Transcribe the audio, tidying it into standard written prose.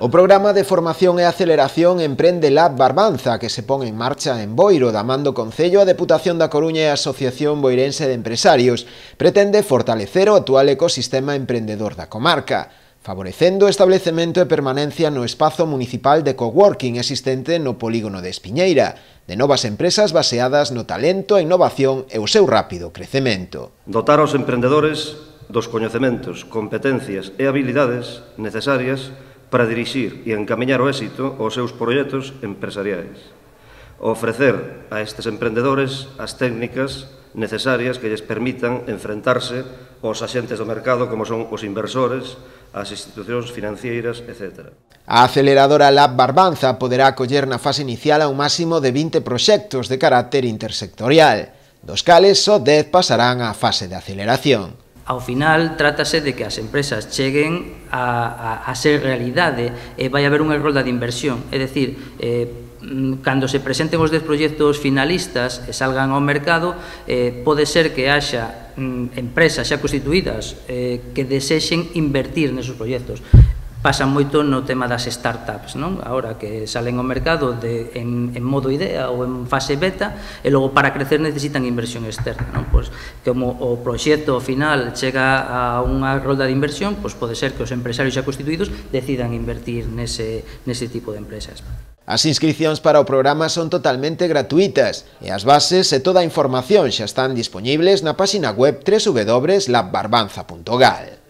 O programa de formación e aceleración Emprende Lab Barbanza, que se pon en marcha en Boiro, da man do Concello, a Deputación da Coruña e a Asociación Boirense de Empresarios, pretende fortalecer o actual ecosistema emprendedor da comarca, favorecendo o establecemento e permanencia no espazo municipal de coworking existente no polígono de Espiñeira, de novas empresas baseadas no talento, a innovación e o seu rápido crecemento. Dotar aos emprendedores dos coñecementos, competencias e habilidades necesarias para dirixir e encamiñar o éxito aos seus proxectos empresariais. Ofrecer a estes emprendedores as técnicas necesarias que lles permitan enfrentarse aos axentes do mercado como son os inversores, as institucións financeiras, etc. A aceleradora Lab Barbanza poderá acoller na fase inicial a un máximo de 20 proxectos de carácter intersectorial, dos cales só 10 pasarán á fase de aceleración. Ao final, trátase de que as empresas cheguen a ser realidade e vai haber unha rolda de inversión. É dicir, cando se presenten os 10 proxectos finalistas e salgan ao mercado, pode ser que haxa empresas xa constituídas que desexen invertir nesos proxectos. Pasa moito no tema das startups, non? Ahora que salen ao mercado en modo idea ou en fase beta e logo para crecer necesitan inversión externa, non? Pois, como o proxecto final chega a unha rolda de inversión, pois pode ser que os empresarios xa constituídos decidan invertir nese tipo de empresas. As inscricións para o programa son totalmente gratuitas e as bases e toda a información xa están dispoñibles na páxina web www.labbarbanza.gal.